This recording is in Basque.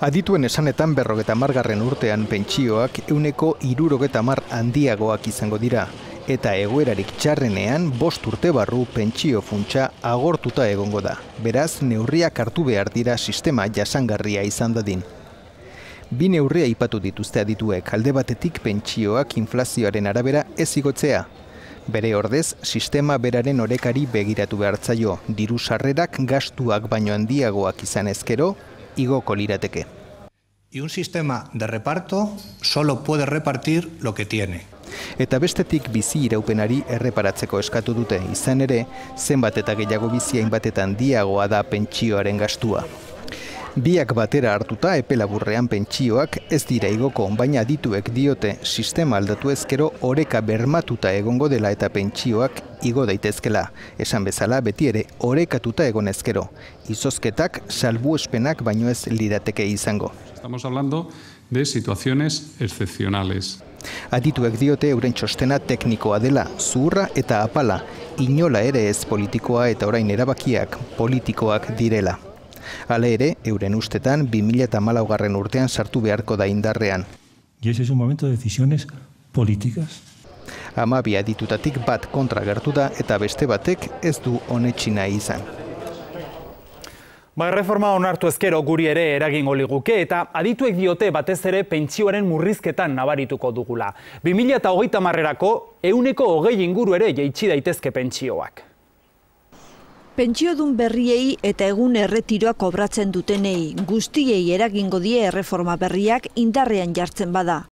Adituen esanetan 50. urtean pentsioak 160 handiagoak izango dira, eta egoerarik txarrenean 5 urte barru pentsio funtsa agortuta egongo da. Beraz, neurriak hartu behar dira sistema jasangarria izan dadin. Bi neurria aipatu dituzte adituek, alde batetik pentsioak inflazioaren arabera ez igotzea. Bere ordez, sistema beraren orekari begiratu behartzaio, diru sarrerak gastuak baino handiagoak izan ezkero, igoko lirateke. Y un sistema de reparto solo puede repartir lo que tiene. Eta bestetik bizi iraupenari erreparatzeko eskatu dute, izan ere, zenbat eta gehiago bizi hainbatetan handiagoa da pentsioaren gastua. Biak batera hartuta epe laburrean pentsioak ez dira igoko, baina adituek diote sistema aldatu ezkero oreka bermatuta egongo dela eta pentsioak igo daitezkela. Esan bezala beti ere orekatuta egon ezkero. Izozketak salbuespenak baino ez lirateke izango. Estamos hablando de situaciones excepcionales. Adituek diote euren txostena teknikoa dela, zuhurra eta apala, inola ere ez politikoa eta orain erabakiak politikoak direla. Hala ere, euren ustetan 2014 urtean sartu beharko da indarrean. Y ese es un momento de decisiones políticas. 12 aditutatik bat kontra gertu da eta beste batek ez du onetsi nahi izan. Erreforma onartu ezkero guri ere eragingo liguke eta adituek diote batez ere pentsioaren murrizketan nabarituko dugula. 2030erako 120 inguru ere jaitsi daitezke pentsioak. Pentsiodun berriei eta egun erretiroa kobratzen dutenei guztiei eragingo die erreforma berriak indarrean jartzen bada.